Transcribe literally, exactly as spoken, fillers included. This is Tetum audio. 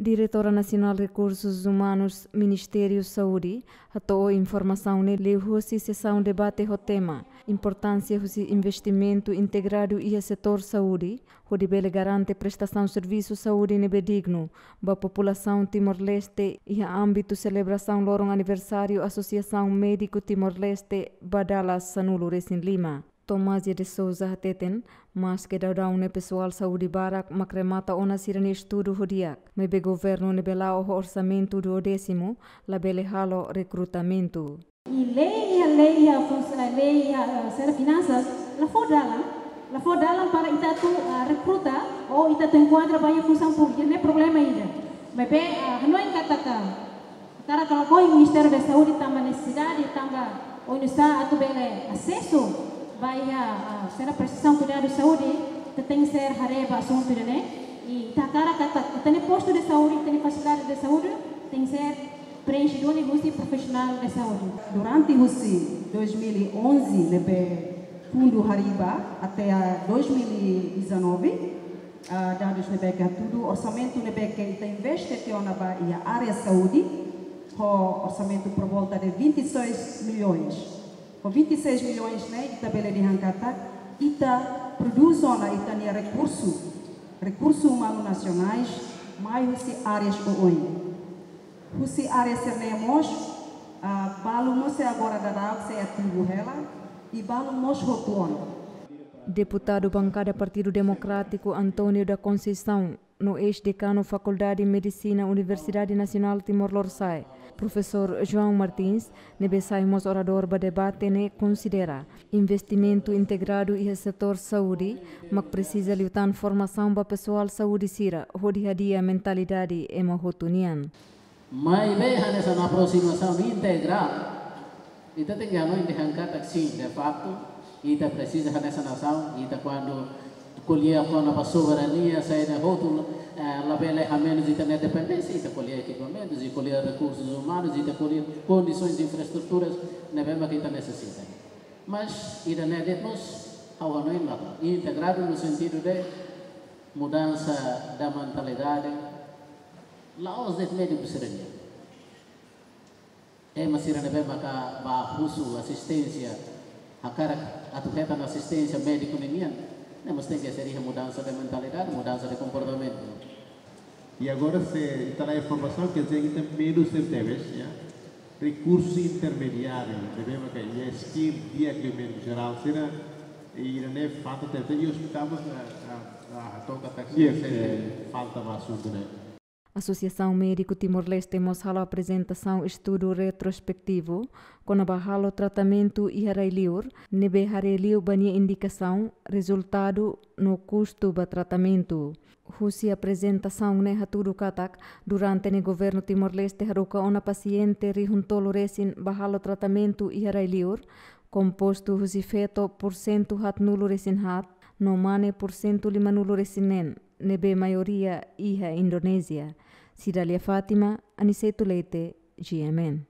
Diretora Nasionál Rekursus Umanus, Ministériu Saúde, hato'o informasaun ne'e liuhusi sesaun debate ho tema Importánsia husi investimentu integradu iha setór saúde, hodi bele garante prestasaun servisu saúde ne'ebé dignu ba populasaun Timor-Leste iha ámbitu selebrasaun loron aniversáriu Asosiasaun Médiku Timor-Leste ba dala sanulu-resin-lima. Tomasia de Sousa hateten, maske daudaun ne'e pesoál saúde barak mak remata ona sira-nia estudu ho di'ak, maibé governu ne'ebé la'o ho orsamentu duodésimu labele halo rekrutamentu. I lei iha, lei iha, fun-, eh, lei iha, eh, sira finansas, la fó dalan, la fó dalan para ita atu, ah, rekruta, ou ita atu enkuadra ba iha funsaun públika, ne'e problema ida. Maibé, ah, hanoin katak, ah, hakarak lakohi Ministériu Saúde tanba nesesidade, tanba oinsá atu bele asesu ba iha, ah, sira presiza kuidadu saúde, ita tenke ser haree ba asuntu ida-ne'e, i ita hakarak katak, ita-nia postu de saúde, ita-nia fasilidade de saúde, tenke ser preenxe duni husi profisionál de saúde. Durante husi dois mil e onze ne'ebé fundu harii ba até a dois mil e dezanove, ah, dadus ne'ebé ke hatudu, orsamentu ne'ebé ke ita investe tiha ona ba iha área saúde, ho orsamentu por volta de vinte e seis milhões. Ho vinte e seis milhões ne'e, ita bele dehan katak, ita prodús ona ita-nia rekursu, rekursu umanu nasionais, mai husi áreas oioin. Husi área sira-ne'e mós, ah, balu mós sei agora daudaun sei ativu hela, i balu mós hotu ona. Deputadu Bankada Partidu Demokrátiku António da Conceição, no eis-dekanu Fakuldade Medisina Universidade Nasionál Timor Lorosa'e, Profesór João Martins, ne'ebé sai mós oradór ba debate ne'e, konsidera investimentu integradu iha setór saúde mak presiza liután formasaun ba pesoál saúde sira, hodi hadi'a mentalidade ema hotu nian. Maibé hanesan aproximasaun integrál, ita tenke hanoin dehan katak sin, de facto, ita presiza hanesan nasaun, ita kuandu ko'alia kona-ba soberania, saida hotu, eh, labele hamenus ita-nia dependénsia, ita ko'alia ekipamentus, ita ko'alia rekursus umanus, ita ko'alia kondisoens infraestruturas ne'ebé mak ita nesesita. Mas ida-ne'e de'it mós ha'u hanoin mak integradu no sentidu de mudansa da mentalidade, la'ós de'it médiku sira-nian. Ema sira ne'ebé maka bá husu asisténsia, hakarak atu hetan asisténsia médiku ninian, ne'e mós tenke ser iha mudansa de mentalidade, mudansa de komportamentu. I agora se ita la formasaun, quer dizer, ita menus tebes, ya. Rekursu intermediáriu, ne'ebé maka iha skill di'ak liu médiku jerál sira, i ne'e falta tebes, i ospitál mós, ah, ah, ah, toka taksi, Yes, se eh. falta ba asuntu ne'e. Asosiasaun Médiku Timor-Leste mós halo aprezentasaun estudu retrospetivu kona-ba halo tratamentu iha rai-liur, ne'ebé haree liu ba nia indikasaun, rezultadu no kustu ba tratamentu. Husi aprezentasaun ne'e hatudu katak, durante ne'e governu Timor-Leste haruka ona pasiente rihun tolu resin ba halo tratamentu iha rai-liur, kompostu husi feto porsentu haatnulu-resin-haat, no mane porsentu limanulu-resin-neen, ne'ebé maioria iha Indonézia. Cidália Fátima, Aniceto Leite, G M N.